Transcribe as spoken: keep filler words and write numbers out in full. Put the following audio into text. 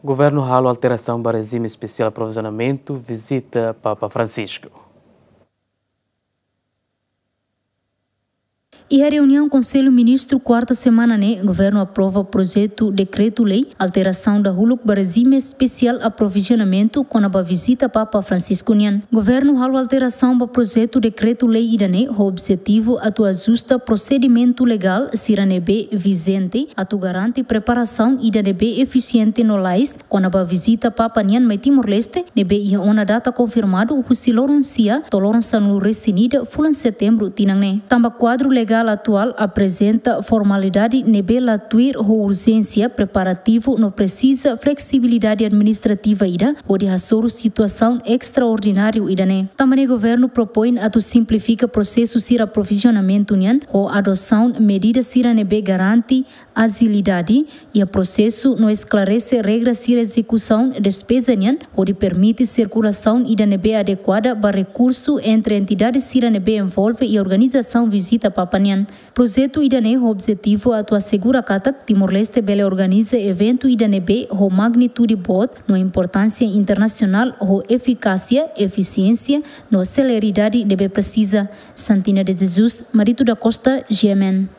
Governu halo alterasaun ba rejime espesiál aprovizionamentu vizita Papa Francisco. Iha reuniaun Konsellu Ministru kuarta semana ne'e, governu aprova projetu dekretu-lei alterasaun dahuluk ba rejime espesiál aprovizionamentu kona-ba vizita Papa Francisco nian. Governu halo alterasaun ba projetu dekretu-lei ida-ne'e ho objetivu atu ajusta prosedimentu legál sira ne'ebé vijente, atu garante preparasaun ida ne'ebé efisiente no lalais kona-ba vizita Papa nian mai Timor-Leste, ne'ebé iha ona data konfirmadu husi loron sia to'o loron sanulu-resin-ida fulan Setembru tinan ne'e. Tanba kuadru legál atuál aprezenta formalidade ne'ebé la tuir ho urjénsia, preparativu no presiza fleksibilidade administrativa ida hodi hasoru situasaun estraordináriu ida-ne'e. Tanba ne'e governu propoin atu simplifika prosesu sira aprovizionamentu nian ho adosaun medida sira ne'ebé garante ajilidade iha prosesu no esklarese regra sira ezekusaun despeza nian, hodi permite sirkulasaun ida ne'ebé adekuada ba rekursu entre entidade sira ne'ebé envolve iha organizasaun vizita Papa nian. Projetu ida-ne'e ho objetivu atu asegura katak Timor-Leste bele organiza eventu ida ne'ebé ho magnitude boot no importánsia internasionál ho efikásia, efisiénsia no seleridade ne'ebé presiza. Santina de Jesus, Marito da Costa, G M N.